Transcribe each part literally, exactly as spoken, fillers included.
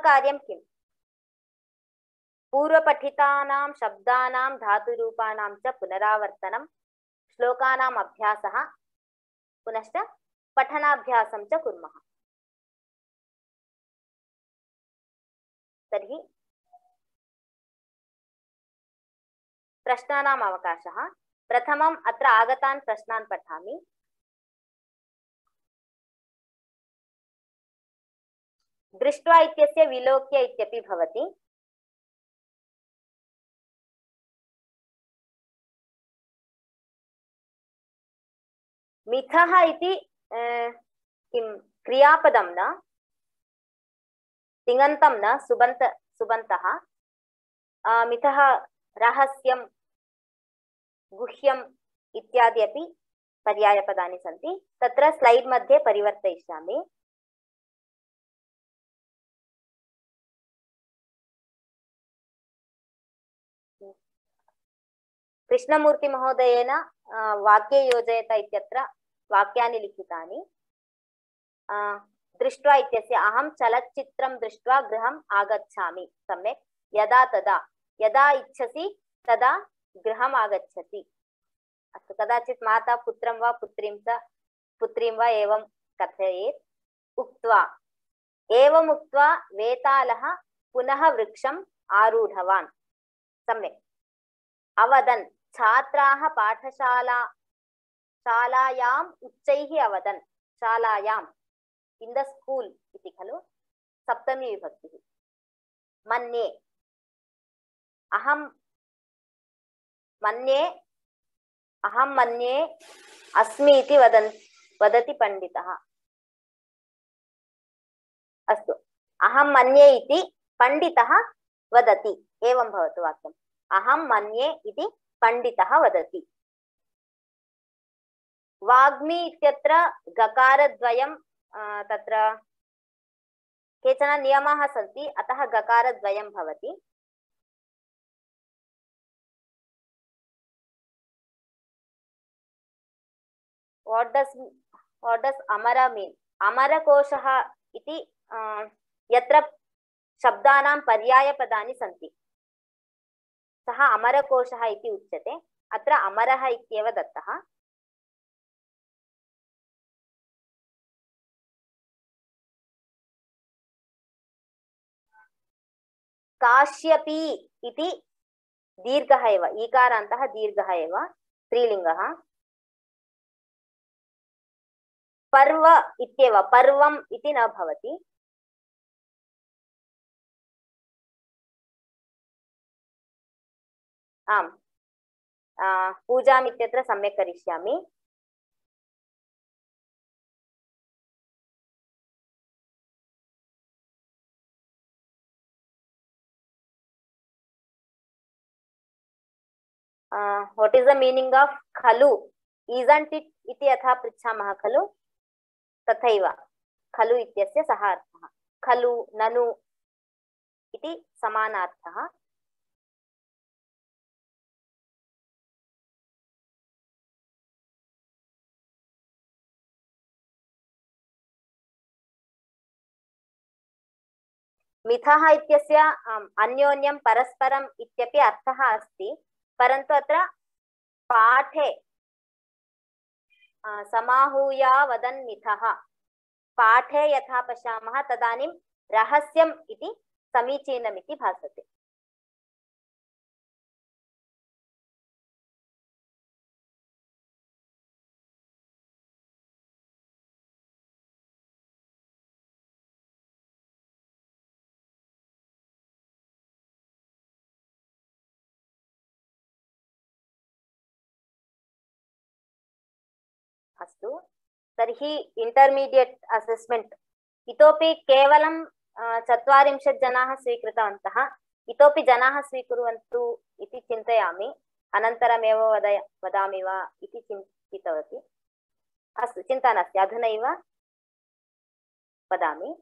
कार्यं किम्? पूर्वपठितानां शब्दानां धातुरूपाणां च पुनरावर्तनं, श्लोकानाम् अभ्यासः, पुनश्च पठनाभ्यासं च कुर्मः। तर्हि प्रश्नानाम् अवकाशः। प्रथमम् अत्र आगतान् प्रश्नान् पठामि। दृष्ट्वा इत्यस्य विलोक्य इत्यपि भवति। मिथः इति किं क्रियापदं न, तिङन्तं न, सुबन्त सुबन्तः। मिथः रहस्यं, गुह्यम् इत्यादि अपि पर्यायपदानि सन्ति। तत्र स्लैड् मध्ये परिवर्तयिष्यामि। कृष्णमूर्तिमहोदयेन वाक्ये योजयत इत्यत्र वाक्यानि लिखितानि। दृष्ट्वा इत्यस्य अहं चलच्चित्रं दृष्ट्वा गृहम् आगच्छामि। सम्यक्। यदा तदा, यदा इच्छसि तदा गृहम् आगच्छति। अस्तु, कदाचित् माता पुत्रं वा पुत्रीं च पुत्रीं वा एवं कथयेत्। उक्त्वा, एवम् उक्त्वा वेतालः पुनः वृक्षम् आरूढवान्। सम्यक्। अवदन्, छात्राः पाठशाला शालायाम् उच्चैः अवदन्। शालायाम्, इन् द स्कूल् इति खलु, सप्तमी विभक्तिः। मन्ये, अहं मन्ये अहं मन्ये अस्मि इति वदन् वदति पण्डितः। अस्तु, अहं मन्ये इति पण्डितः वदति, एवं भवतु वाक्यम्। अहं मन्ये इति पण्डितः वदति। वाग्मी इत्यत्र गकारद्वयं, तत्र केचन नियमाः सन्ति, अतः गकारद्वयं भवति। What does what does amara mean? अमरकोशः इति यत्र शब्दानां पर्यायपदानि सन्ति, सः अमरकोशः इति उच्यते। अत्र अमरः इत्येव दत्तः। काश्यपी इति दीर्घः एव, ईकारान्तः दीर्घः एव, स्त्रीलिङ्गः। पर्व इत्येव, पर्वम् इति न भवति। आम्, पूजाम् इत्यत्र सम्यक् करिष्यामि। what is the meaning of खलु? isn't it इति यथा पृच्छामः खलु, तथैव खलु इत्यस्य सः अर्थः। खलु, ननु इति समानार्थः। मिथः इत्यस्य अन्योन्यं परस्परम् इत्यपि अर्थः अस्ति, परन्तु अत्र पाठे समाहूया वदन् मिथः, पाठे यथा पश्यामः तदानीं रहस्यम् इति समीचीनमिति भासते। अस्तु, तर्हि इंटरमीडिएट असेसमेंट इतोपि केवलं चत्वारिंशत् जनाः स्वीकृतवन्तः। इतोपि जनाः स्वीकुर्वन्तु इति चिन्तयामि, अनन्तरमेव वद वदामि वा इति चिन्तितवती। अस्तु, चिन्ता नास्ति, अधुनैव वदामि।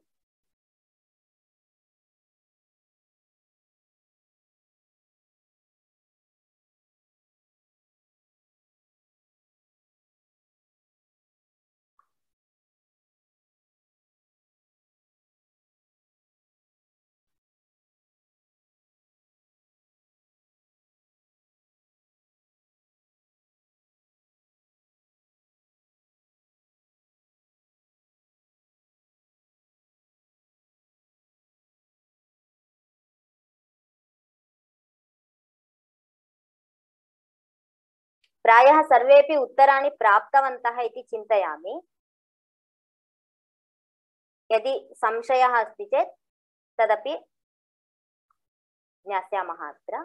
प्रायः सर्वेपि उत्तराणि प्राप्तवन्तः इति चिन्तयामि। यदि संशयः अस्ति चेत् तदपि ज्ञास्यामः अत्र।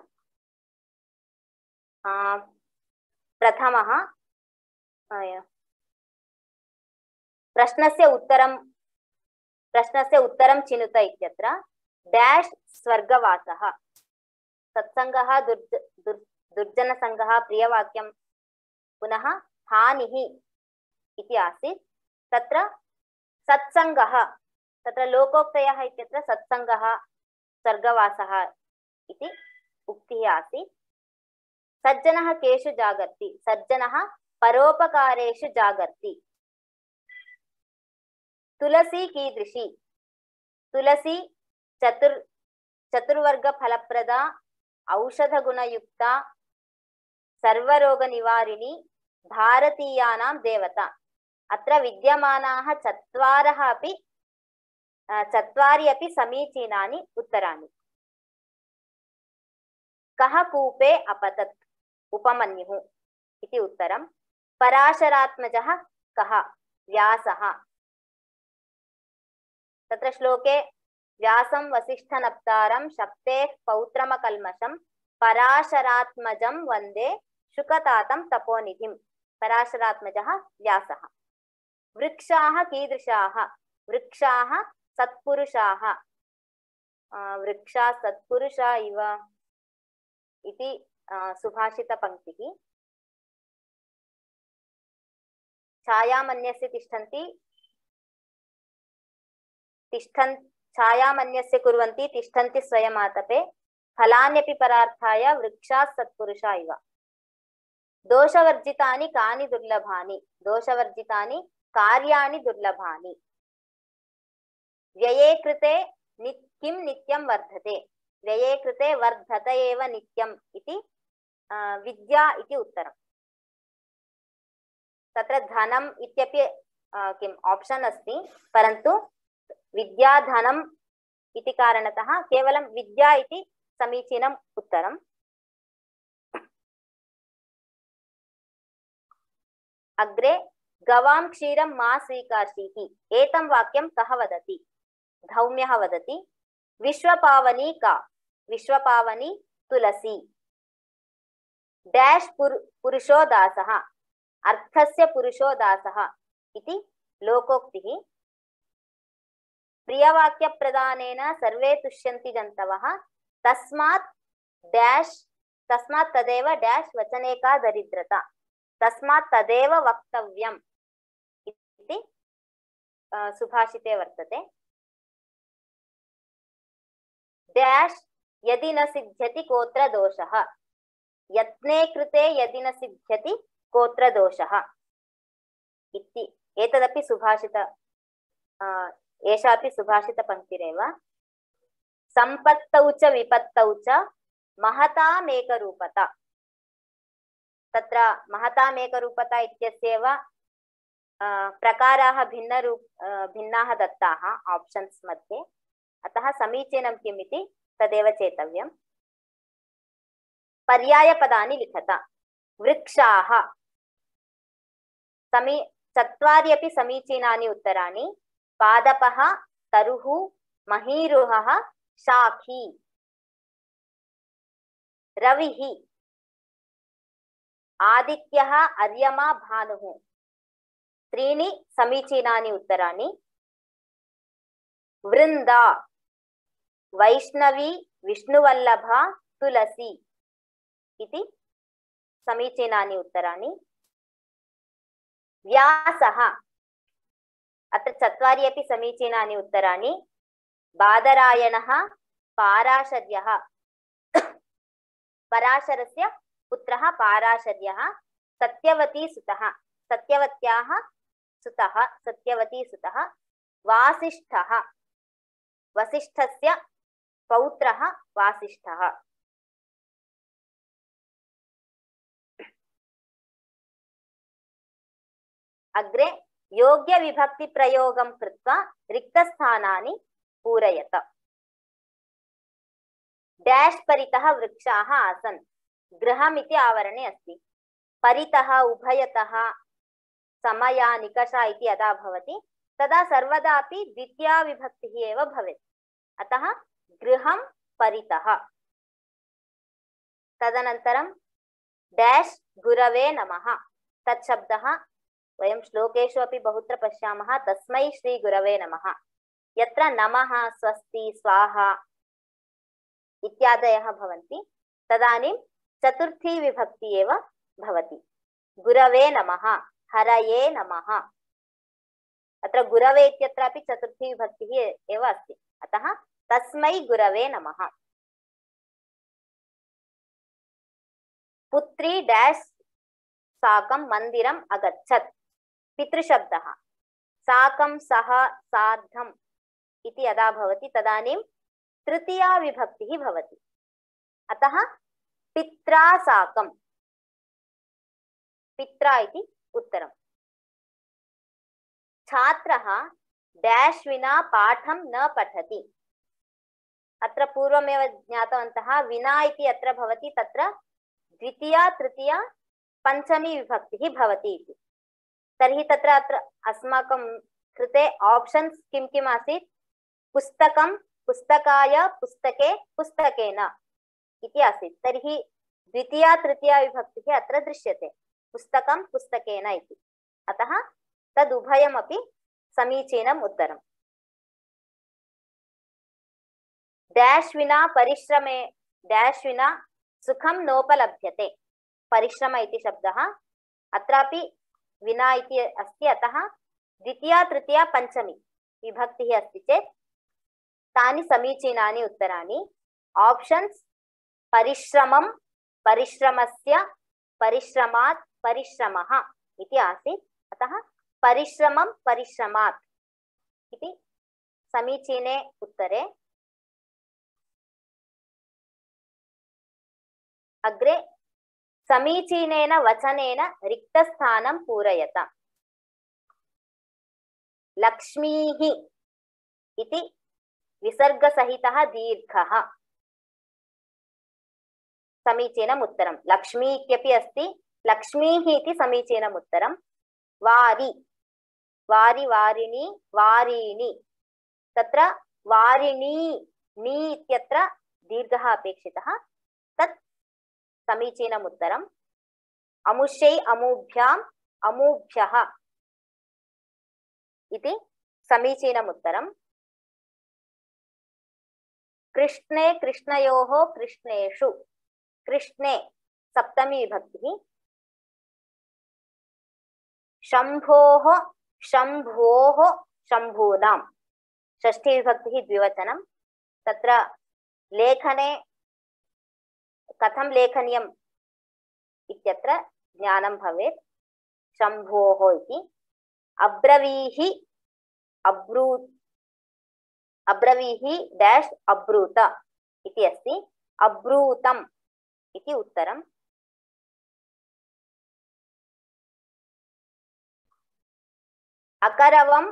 प्रथमः प्रश्नस्य उत्तरं प्रश्नस्य उत्तरं चिनुत इत्यत्र डैश् स्वर्गवासः सत्सङ्गः दुर्ज दुर् दुर्जनसङ्गः प्रियवाक्यं पुनः हानिः इति आसीत्। तत्र सत्सङ्गः तत्र लोकोक्तयः इत्यत्र सत्सङ्गः स्वर्गवासः इति उक्तिः आसीत्। सज्जनः केषु जागर्ति सज्जनः परोपकारेषु जागर्ति। तुलसी कीदृशी तुलसी चतुर् चतुर्वर्ग फलप्रदा औषधगुणयुक्ता सर्वरोगनिवारिणी भारतीयानां देवता। अत्र विद्यमानाः चत्वारः अपि चत्वारि अपि समीचीनानि उत्तराणि। कः कूपे अपतत् उपमन्युः इति उत्तरं। पराशरात्मजः कः व्यासः। तत्र श्लोके व्यासं वसिष्ठनप्तारं शक्तेः पौत्रमकल्मषं पराशरात्मजं वन्दे शुकतातं तपोनिधिं। पराशरात्मजः व्यासः। वृक्षाः कीदृशाः वृक्षाः सत्पुरुषाः। वृक्षा सत्पुरुषा इव इति सुभाषितपङ्क्तिः। छायामन्यस्य तिष्ठन्ति तिष्ठन् छायामन्यस्य कुर्वन्ति तिष्ठन्ति स्वयमातपे फलान्यपि परार्थाय वृक्षाः सत्पुरुषा इव। दोषवर्जितानि कानि दुर्लभानि दोषवर्जितानि कार्याणि दुर्लभानि। व्यये कृते नि किं नित्यं वर्धते व्यये कृते वर्धत एव नित्यम् इति विद्या इति उत्तरम्। तत्र धनम् इत्यपि किम् ऑप्शन अस्ति परन्तु विद्या धनम् इति कारणतः केवलं विद्या इति समीचीनम् उत्तरम्। अग्रे गवां क्षीरं मा स्वीकार्षीः एतं वाक्यं कः वदति। धौम्यः वदति। विश्वपावनी का विश्वपावनी तुलसी। डैश् पुर, पुरुषो दासः अर्थस्य पुरुषो दासः इति लोकोक्तिः। प्रियवाक्यप्रदानेन सर्वे तुष्यन्ति जन्तवः तस्मात् डैश् तस्मात् तदेव डैश् वचने का दरिद्रता तस्मात् तदेव वक्तव्यम् इति सुभाषिते वर्तते। डैश् यदि न सिद्ध्यति कोत्र दोषः यत्ने कृते यदि न सिद्ध्यति कोत्र दोषः इति। एतदपि सुभाषित एषापि सुभाषितपङ्क्तिरेव। सम्पत्तौ च विपत्तौ च महतामेकरूपता। तत्र महतामेकरूपता इत्यस्यैव प्रकाराः भिन्नरूप भिन्नाः दत्ताः ऑप्शन्स् मध्ये। अतः समीचीनं किम् इति तदेव चेतव्यम्। पर्यायपदानि लिखत। वृक्षाः समी चत्वारि अपि समीचीनानि उत्तराणि। पादपः तरुः महीरुहः शाखी। रविः आदित्यः अर्यमा भानुः। त्रीणि समीचीनानि उत्तराणि। वृन्दा वैष्णवी विष्णुवल्लभा तुलसी इति समीचीनानि उत्तराणि। व्यासः अत्र चत्वारि अपि समीचीनानि उत्तराणि। बादरायणः पाराशर्यः पराशरस्य पुत्रः पाराशर्यः। सत्यवती सुतः सत्यवत्याः सुतः सत्यवती सुतः। वासिष्ठः वसिष्ठस्य पौत्रः वासिष्ठः। अग्रे योग्य विभक्ति प्रयोगं कृत्वा रिक्तस्थानानि पूरयत। डैश् परितः वृक्षाः आसन्। गृहमिति आवरणे अस्ति। परितः उभयतः समया निकषा इति यदा भवति तदा सर्वदापि द्वितीया विभक्तिः एव भवेत्। अतः गृहं परितः। तदनन्तरं डैश् गुरवे नमः। तत् शब्दः वयं श्लोकेषु अपि बहुत्र पश्यामः। तस्मै श्री गुरवे नमः। यत्र नमः स्वस्ति स्वाहा इत्यादयः भवन्ति तदानीं चतुर्थी विभक्ति एव भवति। गुरवे नमः, हरये नमः। अत्र गुरवे इत्यत्रापि चतुर्थी विभक्तिः एव अस्ति। अतः तस्मै गुरवे नमः। पुत्री डैश् साकं मन्दिरम् अगच्छत्। पितृशब्दः। साकं सह सार्धम् इति यदा भवति तदानीं तृतीया विभक्तिः भवति। अतः पित्रा साकं, पित्रा इति उत्तरम्। छात्रः डैश् विना पाठं न पठति। अत्र पूर्वमेव ज्ञातवन्तः विना इति यत्र भवति तत्र द्वितीया तृतीया पंचमी विभक्तिः भवति इति। तर्हि तत्र अत्र अस्माकं कृते ऑप्शन्स् किं किम् आसीत्? पुस्तकं, पुस्तकाय, पुस्तके, पुस्तकेन इति आसीत्। तर्हि द्वितीया तृतीया विभक्तिः अत्र दृश्यते, पुस्तकं पुस्तकेन इति। अतः तदुभयमपि समीचीनम् उत्तरम्। डैश् विना परिश्रमे डैश् विना सुखं नोपलभ्यते। परिश्रम इति शब्दः अत्रापि विना इति अस्ति। अतः द्वितीया तृतीया पंचमी विभक्तिः अस्ति चेत् तानि समीचीनानि उत्तराणि। ऑप्शन्स् परिश्रमं, परिश्रमस्य, परिश्रमात्, परिश्रमः इति आसीत्। अतः परिश्रमं परिश्रमात् इति समीचीने उत्तरे। अग्रे समीचीनेन वचनेन रिक्तस्थानं पूरयत। लक्ष्मीः इति विसर्गसहितः दीर्घः समीचीनम् उत्तरं। लक्ष्मी इत्यपि अस्ति, लक्ष्मीः इति समीचीनम् उत्तरं। वारि, वारि वारिणी, वारीणि। तत्र वारिणी नी इत्यत्र दीर्घः अपेक्षितः, तत् समीचीनम् उत्तरम्। अमुष्यै अमूभ्याम् अमूभ्यः इति समीचीनम् उत्तरम्। कृष्णे कृष्णयोः कृष्णेषु, कृष्णे सप्तमी विभक्तिः। शम्भोः शम्भोः शम्भूनां षष्ठी विभक्तिः द्विवचनं। तत्र लेखने कथं लेखनीयम् इत्यत्र ज्ञानं भवेत्। शम्भोः इति। अब्रवीहि अब्रू अब्रवीहि डैश् अब्रूत इति अस्ति। अब्रूतम् इति उत्तरम्। अकरवम्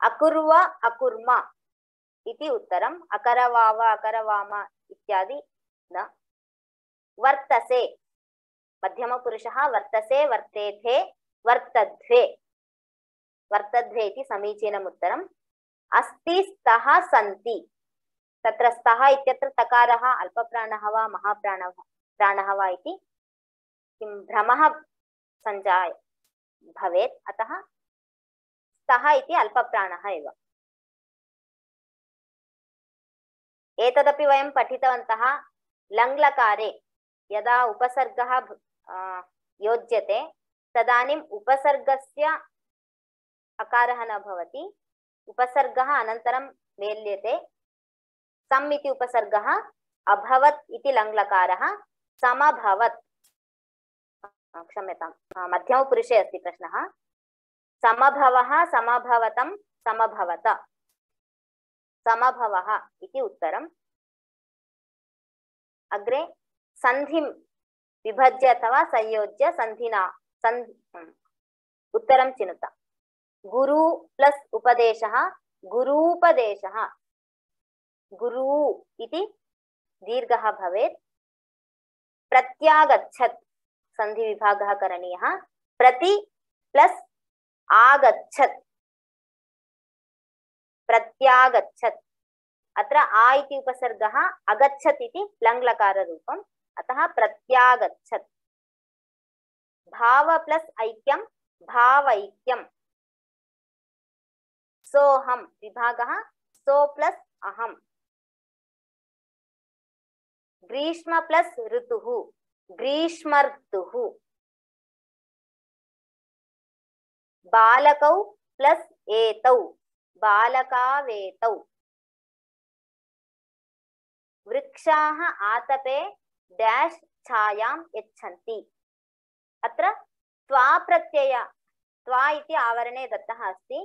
अकुर्व अकुर्म इति उत्तरम्। अकरवाव अकरवाम इत्यादि न। वर्तसे मध्यमपुरुषः। वर्तसे वर्तेथे वर्तध्वे, वर्तध्वे इति समीचीनम् उत्तरम्। अस्ति स्तः सन्ति। तत्र स्तः इत्यत्र तकारः अल्पप्राणः वा महाप्राणः प्राणः वा इति किं भ्रमः सञ्जाय भवेत्। अतः स्तः इति अल्पप्राणः एव। एतदपि वयं पठितवन्तः। लङ्लकारे यदा उपसर्गः योज्यते तदानीम् उपसर्गस्य अकारः न भवति, उपसर्गः अनन्तरं मेल्यते। सम् इति उपसर्गः, अभवत् इति लङ्लकारः, समभवत्, क्षम्यतां मध्यमपुरुषे अस्ति प्रश्नः। समभवः समभवतं समभवत, समभवः इति उत्तरम्। अग्रे संधिं विभज्य अथवा संयोज्य संधिना संधि उत्तरं चिनुत। गुरु प्लस उपदेशः गुरूपदेशः। गुरु इति दीर्घः भवेत्। प्रत्यागच्छत् सन्धिविभागः करणीयः। प्रति प्लस् आगच्छत्, प्रत्यागच्छत्। अत्र आ इति उपसर्गः अगच्छत् इति लङ्लकाररूपम्, अतः प्रत्यागच्छत्। भाव प्लस् ऐक्यं भावैक्यम्। सोऽहं विभागः सो प्लस् अहम्। ग्रीष्म प्लस् ऋतुः ग्रीष्मर्तुः। बालकौ प्लस् एतौ बालकावेतौ। वृक्षाः आतपे डैश छायां यच्छन्ति। अत्र त्वा प्रत्यय त्वा इति आवरणे दत्तः अस्ति,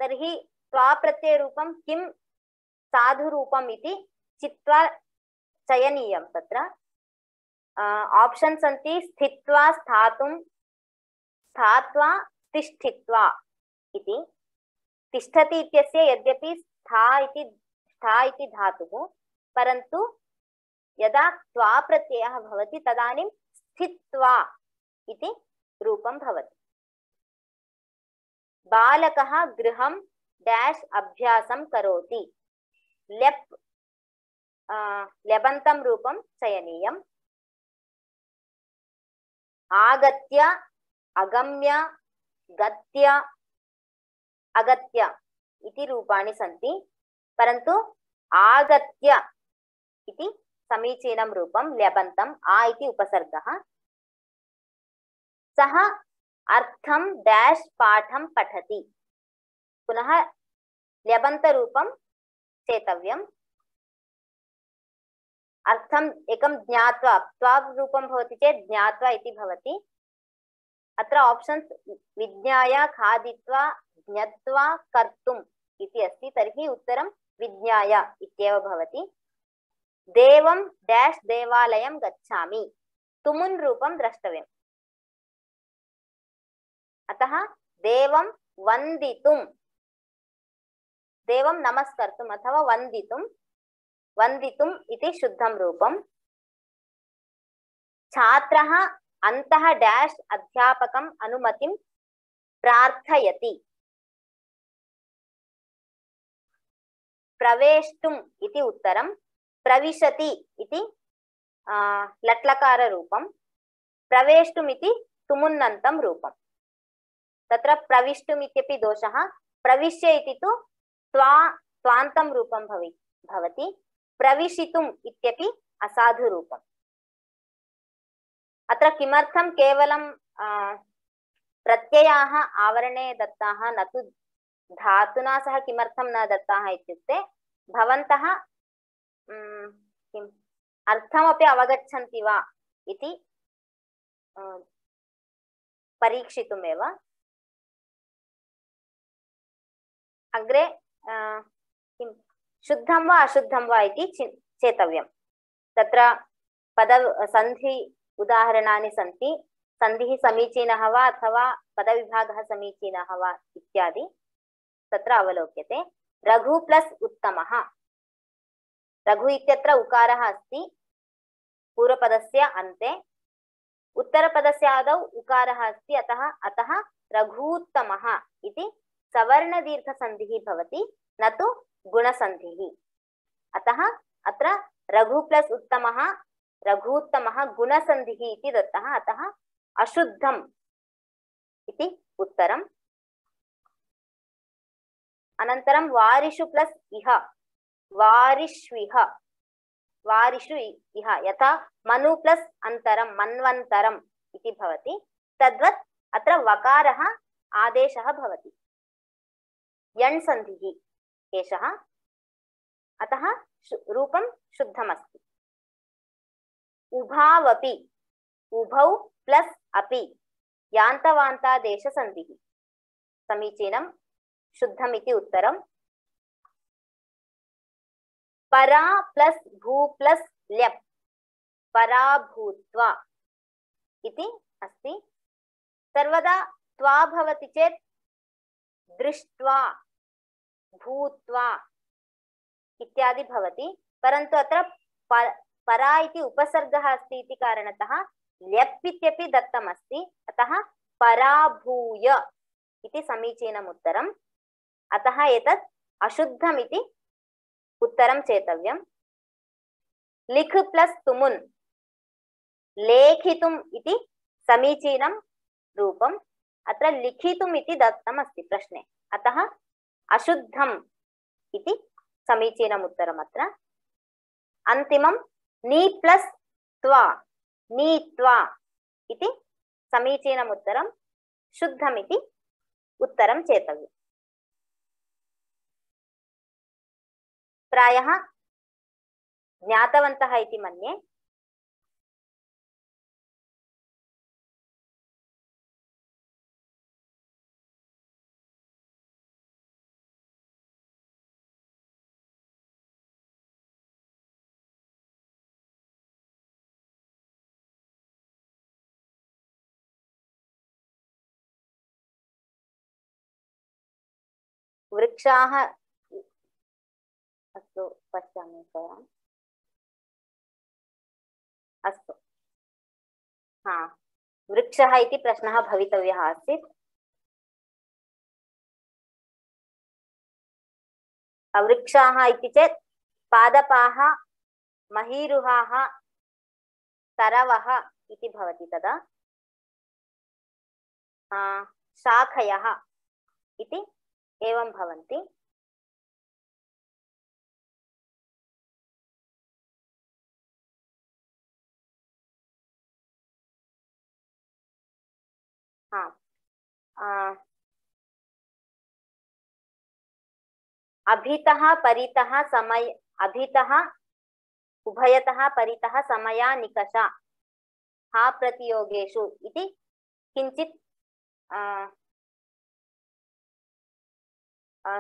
तर्हि त्वा प्रत्ययरूपं किं साधुरूपम् इति चित्वा चयनीयं। तत्र ऑप्शन् सन्ति स्थित्वा स्थातुं, स्थात्वा तिष्ठित्वा इति। तिष्ठति इत्यस्य यद्यपि स्था इति स्था इति धातुः, परन्तु यदा त्वा प्रत्ययः भवति तदानीं स्थित्वा इति रूपं भवति। बालकः गृहं डैश अभ्यासं करोति। लेप् लेबन्तं रूपं चयनीयम्। आगत्य अगम्य गत्य अगत्य इति रूपाणि सन्ति, परन्तु आगत्य इति समीचीनं रूपं लेबन्तम्। आ इति उपसर्गः। सः अर्थं डैश पाठं पठति। पुनः लेबन्तरूपं चेतव्यम्। अर्थम् एकं ज्ञात्वा, त्वा रूपं भवति चेत् ज्ञात्वा इति भवति। अत्र ऑप्शन्स् विज्ञाय खादित्वा ज्ञात्वा कर्तुम् इति अस्ति, तर्हि उत्तरं विज्ञाय इत्येव भवति। देवं डैश देवालयं गच्छामि। तुमुन् रूपं द्रष्टव्यम्, अतः देवं वन्दितुं, देवं नमस्कर्तुम् अथवा वन्दितुं, वन्दितुम् इति शुद्धं रूपम्। छात्रः अन्तः डैश अध्यापकम् अनुमतिं प्रार्थयति। प्रवेष्टुम् इति उत्तरं। प्रविशति इति लट्लकाररूपं। प्रवेष्टुम् इति तुमुन्नन्तं रूपं। तत्र प्रविष्टुम् इत्यपि दोषः। प्रविश्य इति तु त्वा त्वान्तं रूपं भवि भवति। प्रविशितुम् इत्यपि असाधुरूपम्। अत्र किमर्थं केवलं प्रत्ययाः आवरणे दत्ताः, न तु धातुना सह किमर्थं न दत्ताः इत्युक्ते भवन्तः किम् अर्थमपि अवगच्छन्ति वा इति परीक्षितुमेव। अग्रे किं शुद्धं वा अशुद्धं वा इति चेतव्यं। तत्र पद सन्धि उदाहरणानि सन्ति। सन्धिः समीचीनः वा अथवा पदविभागः समीचीनः वा इत्यादि तत्र अवलोक्यते। रघु प्लस उत्तमः। रघु इत्यत्र उकारः अस्ति पूर्वपदस्य अन्ते, उत्तरपदस्य आदौ उकारः अस्ति, अतः अतः रघूत्तमः इति सवर्णदीर्घसन्धिः भवति, न तु गुणसन्धिः। अतः अत्र रघु प्लस उत्तमः रघूत्तमः गुणसन्धिः इति दत्तः, अतः अशुद्धम् इति उत्तरम्। अनन्तरं वारिषु प्लस इह, वारिष्विह, वारिषु इह, यथा मनु प्लस अन्तरं मन्वन्तरम् इति भवति, तद्वत् अत्र वकारः आदेशः भवति, यण् सन्धिः एषः, अतः रूपं शुद्धमस्ति। उभावपि, उभौ प्लस अपि, यान्तवान्तादेशसन्धिः, समीचीनं, शुद्धमिति उत्तरम्। परा प्लस भू प्लस ल्यप्, पराभूत्वा इति अस्ति। सर्वदा त्वा भवति चेत् दृष्ट्वा, भूत्वा इत्यादि भवति, परन्तु अत्र परा इति उपसर्गः अस्ति इति कारणतः ल्यप् इत्यपि दत्तमस्ति, अतः पराभूय इति समीचीनम् उत्तरम्। अतः एतत् अशुद्धम् इति उत्तरं चेतव्यम्। लिख् प्लस् तुमुन् लेखितुम् इति समीचीनं रूपम्। अत्र लिखितुम् इति दत्तमस्ति प्रश्ने, अतः अशुद्धम् इति समीचीनम् उत्तरम् अत्र। अन्तिमं नी प्लस् त्वा नीत्वा इति समीचीनम् उत्तरं, शुद्धम् इति उत्तरं चेतव्यम्। प्रायः ज्ञातवन्तः इति मन्ये। वृक्षाः अस्तु पश्यामि एकवारम्। अस्तु, हा, वृक्षः इति प्रश्नः भवितव्यः आसीत्। वृक्षाः इति चेत् पादपाः, महीरुहाः, तरवः इति भवति तदा। शाखयः इति एवं भवन्ति। हाँ, अभितः परितः समय अभितः उभयतः परितः समया निकषा हा प्रतियोगेषु इति किञ्चित्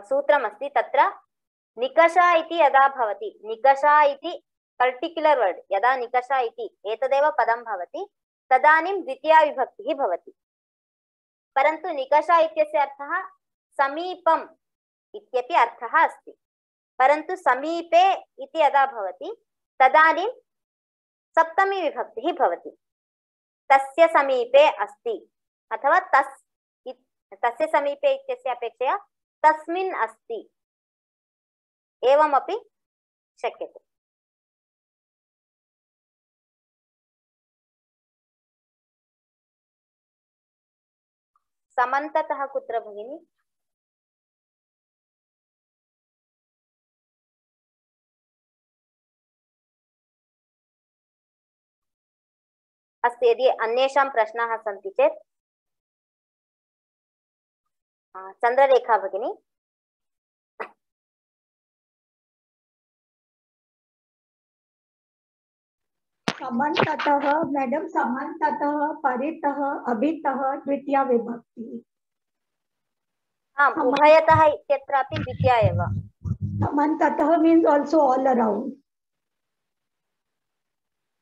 सूत्रमस्ति। तत्र निकषा इति यदा भवति, निकषा इति पर्टिक्युलर् वर्ड् यदा निकषा इति एतदेव पदं भवति, तदानीं द्वितीया विभक्तिः भवति। परन्तु निकषा इत्यस्य अर्थः समीपम् इत्यपि अर्थः अस्ति, परन्तु समीपे इति यदा भवति तदानीं सप्तमी विभक्तिः भवति। तस्य समीपे अस्ति अथवा तस् तस्य समीपे इत्यस्य अपेक्षया तस्मिन् अस्ति एवमपि शक्यते। समन्ततः कुत्र भगिनि? अस्तु, यदि अन्येषां प्रश्नाः सन्ति चेत् चन्द्ररेखा भगिनी। समन्ततः मैडम, समन्ततः परितः अभितः द्वितीया विभक्ति। आम्, उभयतः इत्यत्रापि द्वितीया एव। समन्ततः मीन्स आल्सो ऑल अराउंड।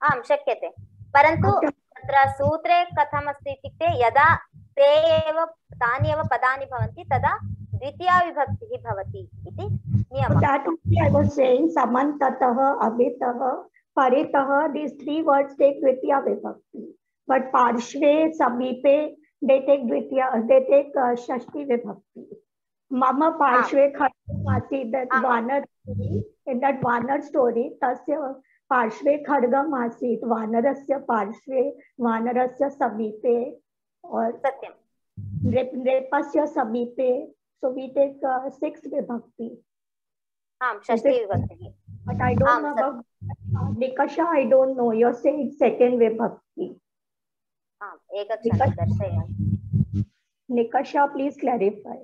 आम्, शक्यते, परन्तु तत्र सूत्रे कथमस्ति इत्युक्ते यदा ते एव तानि एव पदानि भवन्ति तदा द्वितीया विभक्तिः भवति इति नियमः। That only I was saying, samantatah, abhitah, paritah, these three words take dvitiya vibhakti, but parshve, samipe, they take dvitiya, they take uh, shashti vibhakti. Mama parshve khadgam asit, that vanar story, in that vanar story, tasya parshve khadgam asit, vanarasya parshve, vanarasya samipe, or satyam repasya samipe. So we take uh, sixth vibhakti. Um, shashti vibhakti. But I don't um, know about uh, Nikasha. I don't know. You're saying second vibhakti. Um, Nikasha, Nikasha, please clarify.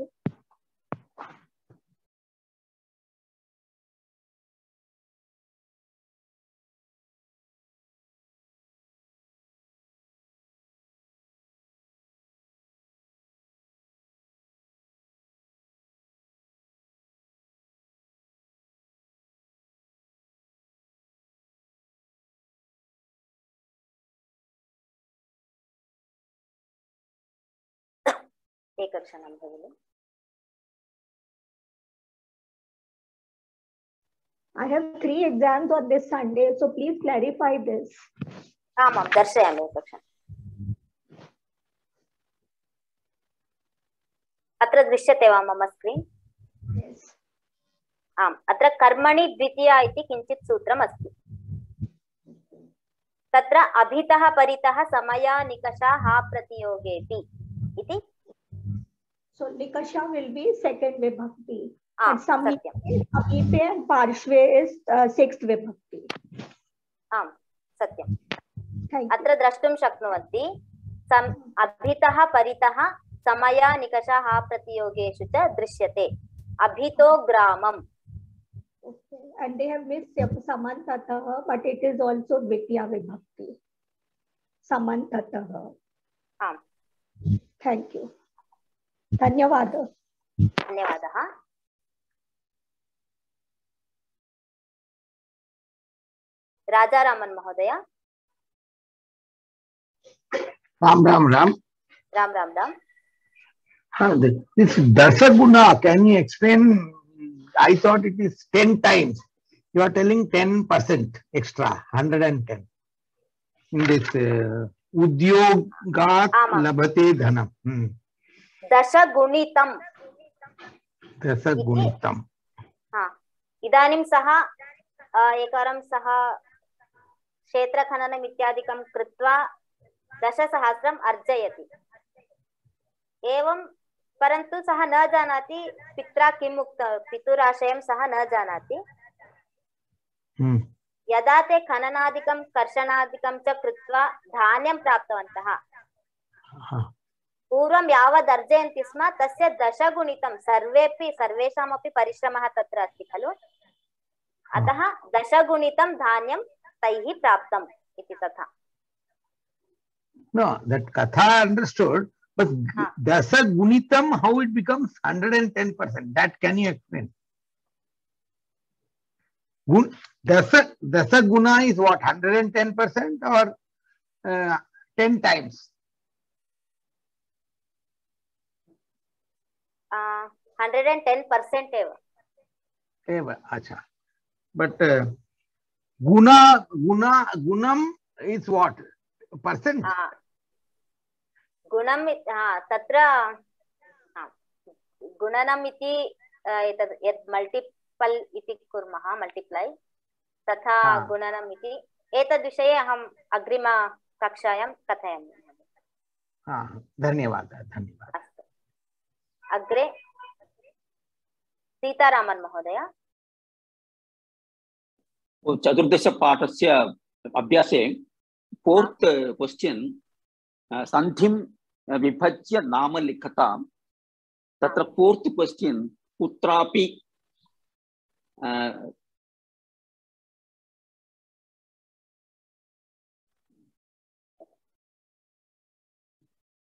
एकक्षणं भगिनि। I have three exams on this Sunday, so please clarify this. आमां दर्शयामि एकक्षणम्। अत्र दृश्यते वा मम screen? आम्, अत्र कर्मणि द्वितीया इति किञ्चित् सूत्रम् अस्ति। तत्र अभितः परितः समया निकषा हा प्रतियोगेति इति। So nikasha will be second vibhakti. Ah, and samipe satyam. Amipe and parshve is uh, sixth vibhakti. आम् सत्यम्। Thank अत्र द्रष्टुं शक्नुवन्ति सम् अभितः परितः समया निकषा हा प्रतियोगेषु च दृश्यते। अभितो ग्रामम्। Okay. And they have missed samantatah, but it is also dvitiya vibhakti. Samantatah. आम्। Thank you. धन्यवादः। धन्यवादः। राजारामन् महोदय। राम राम राम राम राम राम। हाँ, this dasaguna, can you explain? I thought it is ten times. You are telling ten percent extra, one hundred ten. In this uh, udyogat labhate dhanam. Hmm. दशगुणितम्। दशगुणितम्। हाँ, इदानीं सः एकवारं सः क्षेत्रखननम् इत्यादिकं कृत्वा दशसहस्रम् अर्जयति। एवं परन्तु सः न जानाति पित्रा किम् उक्त पितुराशयं सः न जानाति। hmm. यदा ते खननादिकं कर्षणादिकं च कृत्वा धान्यं प्राप्तवन्तः, uh-huh. पूर्वं यावद् अर्जयन्ति स्म तस्य दशगुणितं सर्वेपि सर्वेषामपि परिश्रमः तत्र अस्ति खलु, अतः दशगुणितं धान्यं तैः प्राप्तम् इति तथा। No, that katha I understood, but हाँ. dasagunitam, how it becomes one hundred ten percent, that can you explain? Gun, dasa, dasaguna is what, one hundred ten percent or uh, ten times? Uh, one hundred ten percent eva. Eva, acha. But uh, guna, guna, gunam is what? Percent? Uh, गुणम् तत्र गुणनम् इति एतद् यत् multiple इति कुर्मः, मल्टिप्लै, तथा गुणनम् इति एतद्विषये अहम् अग्रिमकक्षायां कथयामि। धन्यवादः धन्यवादः। अस्तु, अग्रे सीतारामन् महोदय। चतुर्दशपाठस्य अभ्यासे फोर्थ क्वेश्चन संधिं विभज्य नाम लिखताम्। तत्र फोर्थ क्वेश्चन कुत्रापि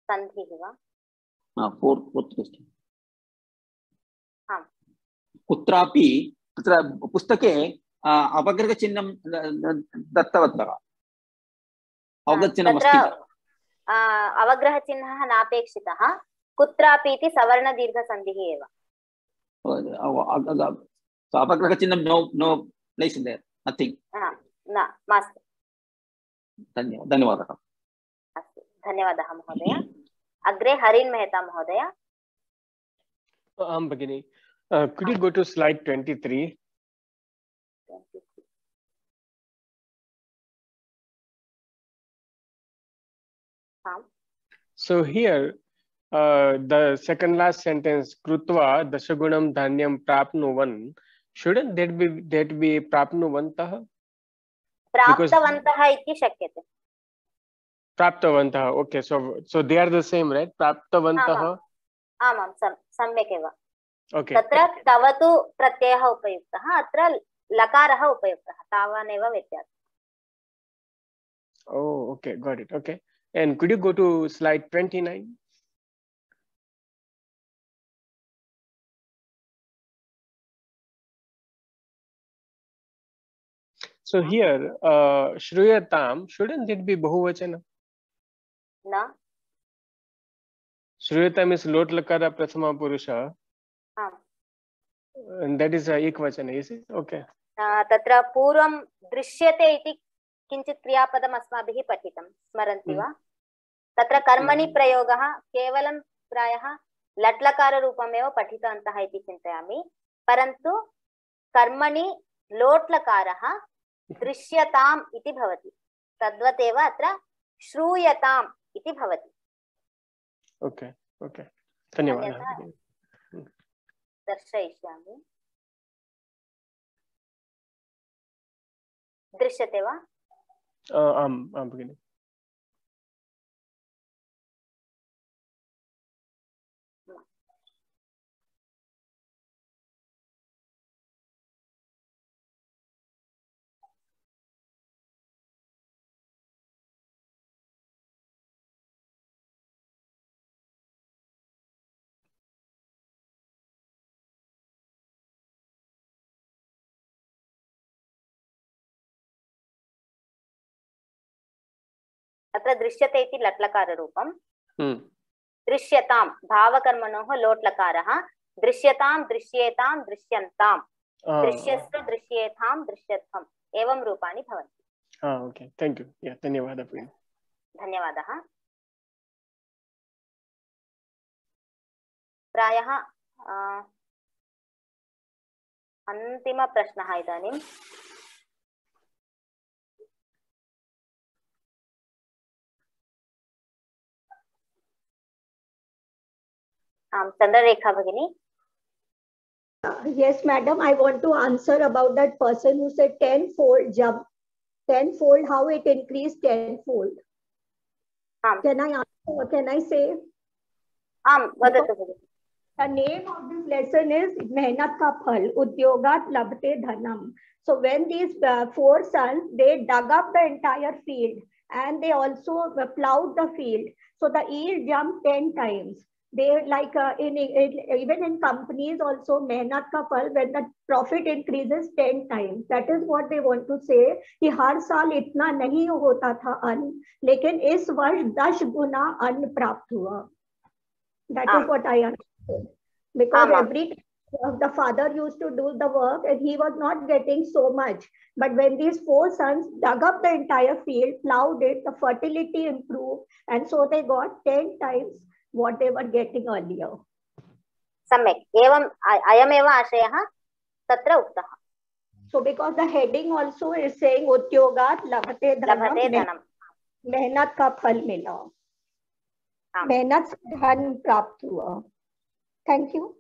संधिः वा? फोर्थ फोर्थ क्वेश्चन आम्, कुत्रापि तत्र पुस्तके अवग्रहचिह्नं दत्तवन्तः। अवग्रहचिह्नम् अस्ति, अवग्रहचिह्नः नापेक्षितः, कुत्रापि इति सवर्णदीर्घसन्धिः एव। अवग्रहचिह्नं नो नो प्लेस् इन् देयर, नथिंग। न मास्तु। धन्यवादः धन्यवादः। अस्तु, धन्यवादः महोदय। अग्रे हरिन् मेहता महोदय। आं भगिनि, could you go to slide twenty-three? So here, uh, the second last sentence, krutva dashagunam dhanyam prapnuvan, shouldn't that be that be prapnuvantah? Praptavantah iti shakyate. Praptavantah. Okay, so so they are the same, right? Praptavantah. आमां सम्यक् एव। Okay. तत्र तवतु प्रत्ययः उपयुक्तः, अत्र लकारः उपयुक्तः, तावानेव व्यत्यासः। Oh, okay, got it. Okay. And could you go to slide twenty-nine? So here, uh, Shruyatam, shouldn't it be Bahuvachana? No. Shruyatam is Lot Lakara Prathama Purusha. Ah. And that is a Ekvachana, is it? Okay. Uh, tatra Purvam Drishyate iti किञ्चित् क्रियापदम् अस्माभिः पठितं स्मरन्ति वा? तत्र कर्मणि प्रयोगः केवलं प्रायः लट्लकाररूपमेव पठितवन्तः इति चिन्तयामि, परन्तु कर्मणि लोट्लकारः दृश्यताम् इति भवति, तद्वदेव अत्र श्रूयताम् इति भवति। ओके ओके धन्यवादः। दर्शयिष्यामि, दृश्यते वा? आम् आं भगिनि। अत्र दृश्यते इति लट्लकाररूपं, दृश्यतां भावकर्मणोः लोट्लकारः, दृश्यतां दृश्येतां दृश्यन्तां, दृश्यस्व दृश्येतां दृश्यत्वम्, एवं रूपाणि भवन्ति। ओके थैंक यू, या धन्यवादः भगिनि। धन्यवादः। प्रायः अन्तिमप्रश्नः इदानीं। आम चंद्ररेखा भगिनी। Yes, madam. I want to answer about that person who said tenfold jump. Tenfold, how it increased tenfold. Um, can I answer? Can I say? Um, the name of this lesson is Mehnat Ka Phal, Udyogat Labte Dhanam. So when these uh, four sons, they dug up the entire field and they also plowed the field. So the yield jumped ten times. They like uh, in, in even in companies also मेहनत का फल when the profit increases ten times. That is what they want to say कि हर साल इतना नहीं होता था अन्न, लेकिन इस वर्ष दस गुना अन्न प्राप्त हुआ. That is what I understood. Because every time the father used to do the work and he was not getting so much. But when these four sons dug up the entire field, plowed it, the fertility improved, and so they got ten times what they were getting earlier. सम्यक् एवं अयमेव आशयः तत्र उक्तः. So because the heading also is saying उद्योगात् लभते धनम, मेहनत का फल मिला, मेहनत से धन प्राप्त हुआ. Thank you.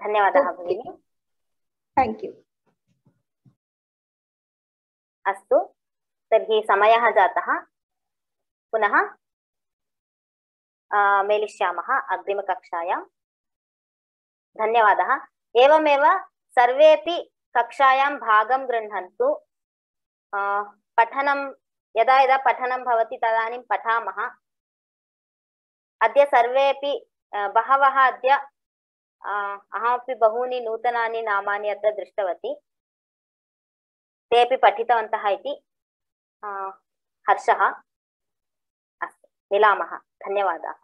धन्यवादः भगिनी. Thank you. अस्तु, तर्हि समयः जातः. पुनः मेलिष्यामः अग्रिमकक्षायां. धन्यवादः. एवमेव सर्वेपि कक्षायां भागं गृह्णन्तु. पठनं यदा यदा पठनं भवति तदानीं पठामः. अद्य सर्वेपि बहवः अद्य अहमपि बहूनि नूतनानि नामानि अत्र दृष्टवती. तेपि पठितवन्तः इति हर्षः. अस्तु, मिलामः. धन्यवादाः.